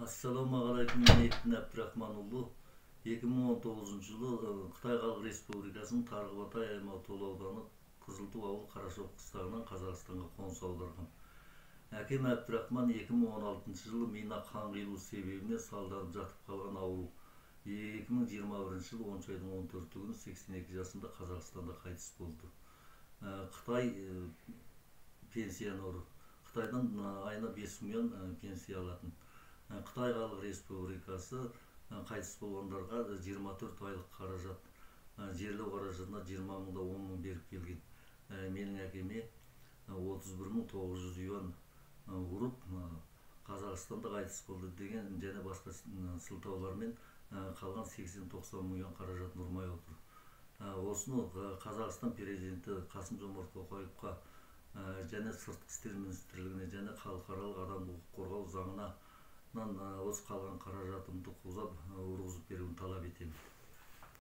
Assalomu alaykum, Mehmet Abdurahman ulu. 2019 жылы Кытай Халық Республикасынын Таргыбатай аймагы Тол ауданы Кызылтуу ауыл Карашок кыстагынан Казакстанга конус аударган. Аким Абдурахман 2016 жылы мина кан кыйлуу себебинен салданып жатып калган ауыл 2021 жылы 10 айдын 14-күнү 82 жашында Казакстанда кайтыс болду. Кытай пенсионеру. Кытайдан айына 5 миллион пенсия алатын. Кытай Халық Республикасы кайтыс болгондорго 24 айлык каражат, жерлөө каражатына 20 мыңда 10 мың берип келген. Менин акеме 31.900 юан уруп Казакстанда кайтыс болду деген жана башка сылтоолор менен калган 80-90 мың юан каражатын урмай отур. Осуну Казакстан президенти Касым-Жомарт Токаевка жана Сырткы иштер министрлигине жана Калкаралык адамдык укук коргоо заңына осы калган каражатымды ургузуп берүүнү талап этем.